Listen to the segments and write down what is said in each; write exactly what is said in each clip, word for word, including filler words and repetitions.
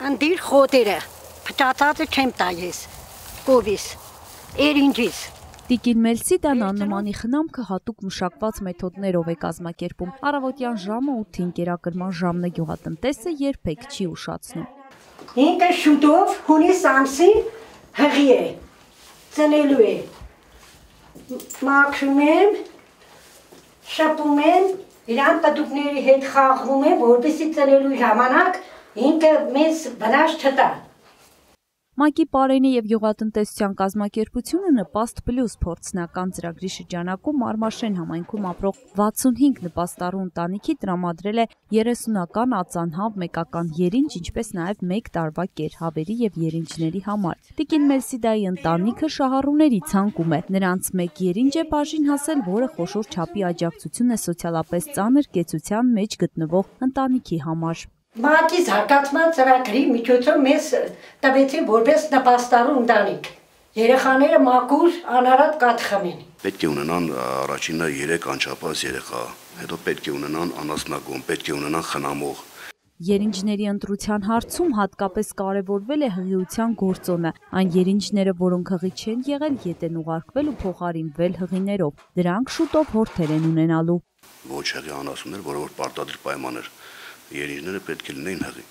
Անդիր խոտերը, փճացածը չեմ տա ես, կովիս, երինջիս։ Տիկին Մելսիդան աննմանի խնամքը հատուկ մշակված մեթոդներով է կազմակերպում։ Առավոտյան ժամը ութին կերակրման ժամն է գյուղատնտեսը երբեք չի ուշացնում։ Ինքը շուտով հունիս ամսին հղի է, ծնելու է։ Մաքրում եմ, շպում եմ, իրան պտուկների հետ խաղում եմ, որպեսզի ծնելու ժամանակ ինքը մեզ վնաս չտա։ ՄԱԿ-ի Պարենի և գյուղատնտեսության կազմակերպությունը Նպաստ Պլյուս փորձնական ծրագրի շրջանակում Մարմաշեն համայնքում ապրող վաթսունհինգ նպաստառու ընտանիքի տրամադրել է երեսունական ածանհավ մեկական երինջ, ինչպես նաև մեկ տարվա կերհավերի և երինջների համար։ Տիկին Մելսիդայի ընտանիքը շահառուների ցանկում է։ Նրանց մեկ երինջ է բաժին հասել, որը խոշոր չափի աջակցություն է սոցիալապես ծանր կեցության մեջ գտնվող ընտանիքի համար։ ՄԱԿ-ի զարգացման ծրագրի միջոցով մեզ տվեցին որպես նպաստառու ընտանիք։ Երեխաները մաքուր անարատ կաթ խմեն։ Պետք է ունենան առաջինը երեք անչափահաս երեխա, հետո պետք է ունենան անասնագոհ, պետք է ունենան խնամող։ Երինջների ընտրության հարցում հատկապես կարևորվել է հղիության գործոնը։ Այն երինջները, որոնք հղի չեն եղել, ետ են ուղարկվել ու փոխարինվել հղիներով։ Դրանք շուտով հորթեր են ունենալու։ Ոչ հղի անասուններ, որը որ պարտադիր պայման էր, երինջները պետք է լինեին հղի։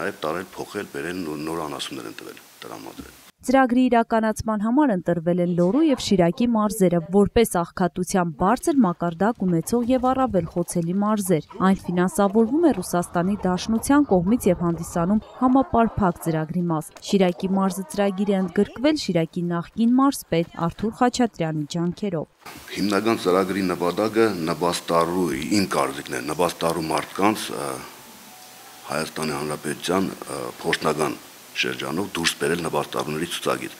Նաև տարել, փոխել, բերել նոր անասուններ են տվել, տրամադրել։ Ծրագրի իրականացման համար ընտրվել են Լոռու և Շիրակի մարզերը, որպես աղքատության բարձր մակարդակ ունեցող և առավել խոցելի մարզեր։ Այն ֆինանսավորվում է Ռուսաստանի Դաշնության կողմից և հանդիսանում համապարփակ ծրագրի մաս։ Շիրակի մարզը ծրագիր է ընդգրկվել Շիրակի նախկին մարզպետ Արթուր Խաչատրյանի ջանքերով։ Հիմնական ծրագրի նպատակը նպաստառու, իմ կարծիքն է, նպաստառու մարդկանց Հայաստանի Հանրապետության փորձնական շրջանով դուրս բերել նպաստառուների ցուցակից։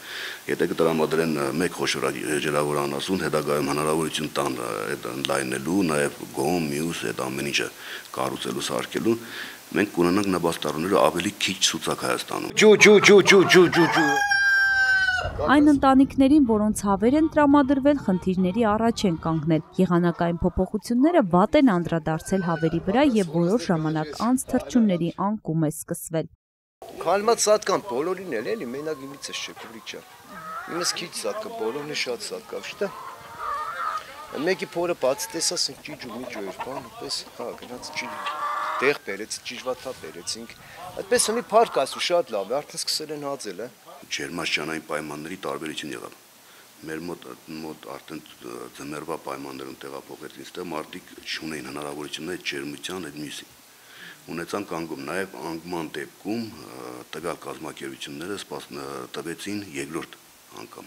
Եթե կտրամադրեն մեկ խոշոր ջրավոր անասուն, հետագայում հնարավորություն տան այդ ընդլայնելու, նաև գոմ, մյուս այդ ամեն ինչը կառուցելու, սարքելու, մենք կունենանք նպաստառուները ավելի քիչ ցուցակ Հայաստանում։ Ջու ջու ջու ջու ջու ջու ջու Այն ընտանիքներին, որոնց հավեր են տրամադրվել, խնդիրների առաջ են կանգնել։ Եղանակային փոփոխությունները վատ են անդրադարձել հավերի վրա և որոշ ժամանակ անց թռչունների անկում է սկսվել։ Քալմած սատկան բոլորին էլ էլի մենակ իմից է չէ քուրիչա։ Իմս քիչ սատկա, բոլորն է շատ սատկա, շտա։ Մեկի փորը բաց տեսած ճիճ ու միջո էր, բան, պես, հա, գնաց ճիճ։ Տեղ բերեց, ճիժվաթա բերեցինք։ Այդպես ունի փառք ասու շատ լավ է, արդեն սկսել են հաձել, է։ Ջերմաշրջանային պայմանների տարբերություն եղավ։ Մեր մոտ մոտ արդեն ձմեռվա պայմաններում տեղափոխվեցին, այստեղ մարդիկ չունեին հնարավորություն այդ ջերմության, այդ մյուսի։ Ունեցան կանգում, նաև անկման դեպքում տվյալ կազմակերպությունները տվեցին երկրորդ անգամ։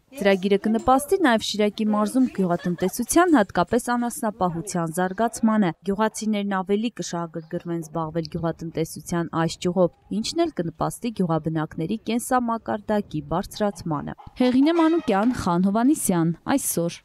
Ծրագիրը կնպաստի նաև Շիրակի մարզում գյուղատնտեսության, հատկապես անասնապահության զարգացմանը։ Գյուղացիներն ավելի կշահագրգռվեն զբաղվել գյուղատնտեսության այս ճյուղով, ինչն էլ կնպաստի գյուղաբնակների կենսամակարդակի բարձրացմանը։ Հեղինե Մանուկյան, Խան Հովհաննիսյան, այսօր։